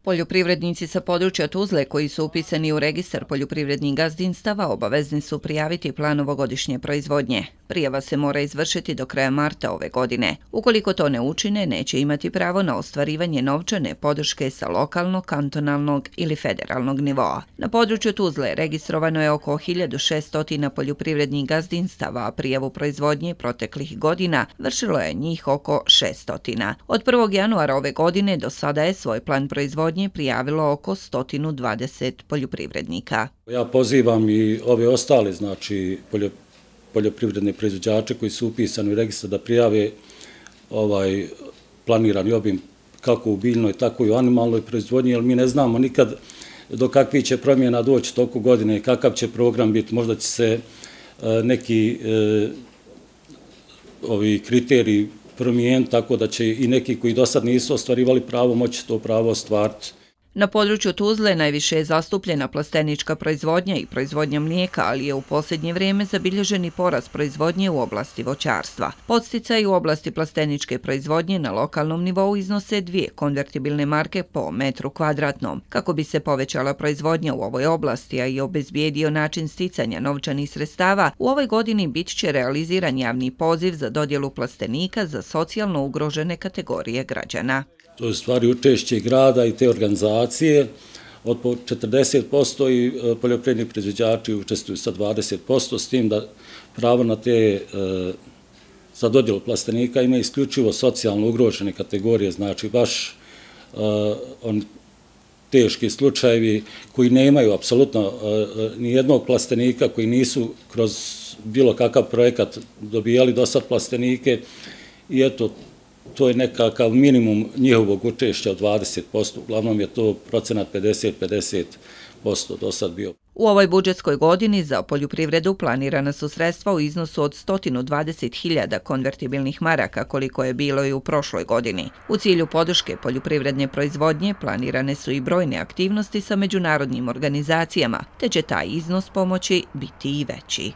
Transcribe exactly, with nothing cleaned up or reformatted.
Poljoprivrednici sa područja Tuzle koji su upisani u registar poljoprivrednih gazdinstava obavezni su prijaviti plan ovogodišnje proizvodnje. Prijava se mora izvršiti do kraja marta ove godine. Ukoliko to ne učine, neće imati pravo na ostvarivanje novčane podrške sa lokalnog, kantonalnog ili federalnog nivoa. Na području Tuzle registrovano je oko hiljadu šesto poljoprivrednih gazdinstava, a prijavu proizvodnje proteklih godina vršilo je njih oko šesto. Od prvog januara ove godine do sada je svoj plan proizvodnje prijavilo oko sto dvadeset poljoprivrednika. Ja pozivam i ove ostale, znači, poljoprivredne proizvođače koji su upisani u registar da prijave ovaj planirani obim kako u biljnoj, tako i u animalnoj proizvodnji, jer mi ne znamo nikad do kakvih će promjena doći toku godine, kakav će program biti, možda će se neki ovi kriteriji promijeniti, tako da će i neki koji do sad nisu ostvarivali pravo moći to pravo ostvariti. Na području Tuzle najviše je zastupljena plastenička proizvodnja i proizvodnja mlijeka, ali je u posljednje vrijeme zabilježen i porast proizvodnje u oblasti voćarstva. Podsticaji u oblasti plasteničke proizvodnje na lokalnom nivou iznose dvije konvertibilne marke po metru kvadratnom. Kako bi se povećala proizvodnja u ovoj oblasti, a i obezbijedio način sticanja novčanih sredstava, u ovoj godini bit će realiziran javni poziv za dodjelu plastenika za socijalno ugrožene kategorije građana. To je stvari učešće grada i te organizacije od četrdeset posto i poljoprivredni proizvođači učestvuju sa dvadeset posto, s tim da pravo na te za dodjelu plastenika ima isključivo socijalno ugrožene kategorije, znači baš on teški slučajevi koji nemaju apsolutno ni jednog plastenika, koji nisu kroz bilo kakav projekat dobijali do sad plastenike i eto, to je nekakav minimum njihovog učešća od dvadeset posto, uglavnom je to procenat pedeset pedeset posto do sad bio. U ovoj budžetskoj godini za poljoprivredu planirana su sredstva u iznosu od sto dvadeset hiljada konvertibilnih maraka, koliko je bilo i u prošloj godini. U cilju podrške poljoprivredne proizvodnje planirane su i brojne aktivnosti sa međunarodnim organizacijama, te će taj iznos pomoći biti i veći.